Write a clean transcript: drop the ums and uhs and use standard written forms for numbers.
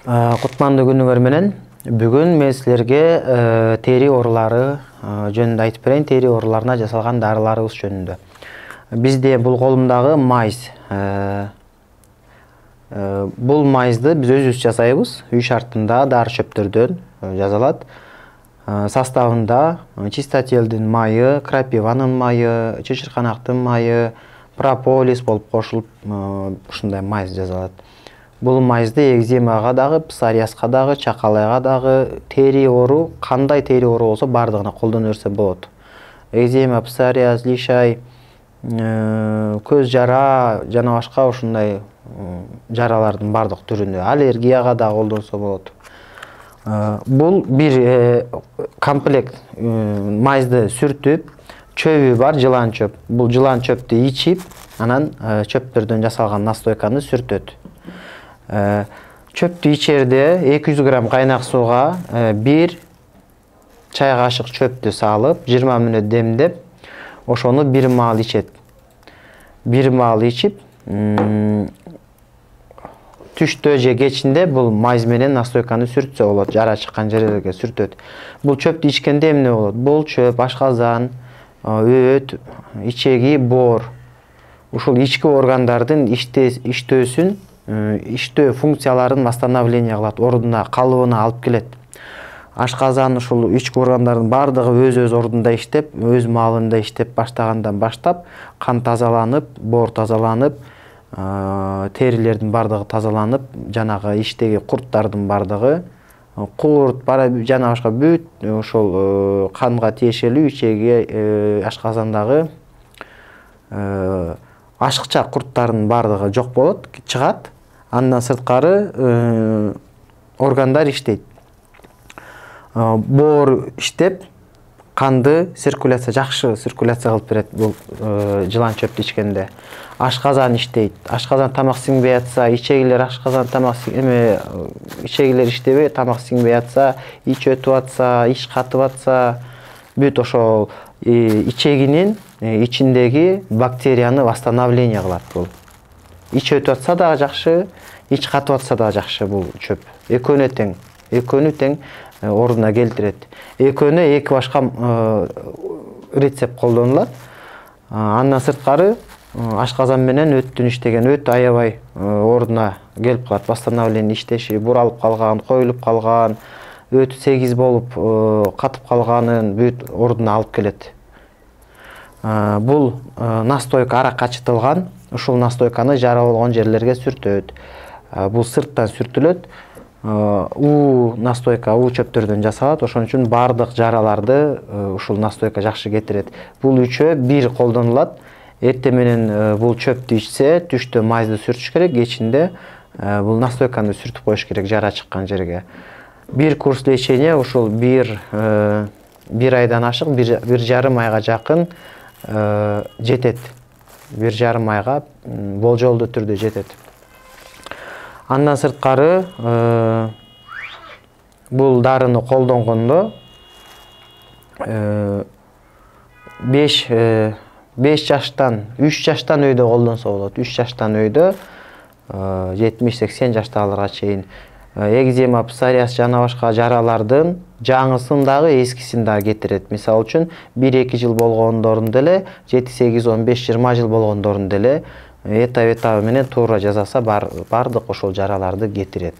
Кутмандуу күнүңөр менен. Бүгүн мен силерге тери оорулары жөнүндө айтып берейин. Тери ооруларына жасалган дарыларыбыз жөнүндө. Бизде бул колумдагы майз. Бул майзды биз өзүбүз жасайбыз. Үй шартында дары чөптөрдөн жасалат. Составында чистотелдин майы, крапиванын майы, чычырканактын майы, прополис болуп кошулуп ушундай майз жасалат. Бул майзды экземага дагы, псориазга дагы, чакалайга дагы, тери оору, кандай тери оору болсо бардыгына колдоно берсе болот. Экзема, псориаз, лишай, көз жара жана башка ушундай жаралардын бардык түрүнө, аллергияга дагы колдонсо болот. Бул бир комплект майзды сүртүп, чөбү бар жылан чөп. Бул жылан чөптү ичип, анан чөптөрдөн жасалган настойканы сүртөт. Чөптү ичерде 200 грамм кайнак сууга 1 чай кашык чөптү салып, 20 мүнөт демдеп, ошону бир маал ичет. Бир маал ичип, түштө же кечинде бул майз менен настойканы сүртсө болот, жара чыккан жерлерге сүртөт. Бул чөптү ичкенде эмне болот? Бул чөп ашказан, өт, ичеги, боор. Ушул ички органдардын иштөөсүн, иштөө функцияларын восстановление кылат, ордуна, калыбына алып келет. Ашказан ушул ички органдардын бардыгы өз ордунда иштеп, өз маалында иштеп баштагандан баштап, кан тазаланып, боор тазаланып, терилердин бардыгы тазаланып, жанагы иштеги курттардын бардыгы, курт, жана башка бүт ошол канга тиешелүү ичеги, ашказандагы ашыкча курттардын бардыгы жок болот, чыгат. Андан сырткары органдар иштейт. Боор иштеп, канды жакшы циркуляция кылып берет бул жылан чөптү ичкенде. Ашказан иштейт. Ашказан тамак сиңбей атса, ичегилер ашказан тамак ичегилер иштебей, тамак сиңбей атса, ич өтүп атса, ич катып атса, бүт ошол ичегинин ичиндеги бактерияны восстановление кылат бул. Ич өтүп атса дагы жакшы, ич катып атса дагы жакшы бул чөп. Экөөнү тең ордуна келтирет. Экөөнү эки башка рецепт колдонулат. Андан сырткары ашказан менен өттүн иштеген, өт аябай ордуна келип калат, восстановление иштеши, буралып калган, коюлуп калган, өт сегиз болуп катып калганын бүт ордуна алып келет. Бул настойка арак ачытылган, ушул настойканы жара болгон жерлерге сүртөт. Бул сырттан сүртүлөт. Настойка чөптөрдөн жасалат, ошон үчүн бардык жараларды ушул настойка жакшы кетирет. Бул үчөө бир колдонулат. Эртең менен бул чөптү ичсе, түштө майзды сүртүш керек, кечинде бул настойканы сүртүп коюш керек жара чыккан жерге. Бир курс лечения ушул бир айдан ашык, 1,5 айга жакын жетет. 1,5 айга болжолдуу түрдө жетет. Андан сырткары бул дарыны колдонгондо 3 жаштан өйдө колдонсо болот. 3 жаштан өйдө 70-80 жаштагыларга чейин. Экзема, псориаз жана башка жаралардын жаңысын дагы, эскисин дагы кетирет. Мисалы үчүн 1-2 жыл болгондорун деле, 7-8-15-20 жыл болгондорун деле этап менен туура жасаса бардык ошол жараларды кетирет.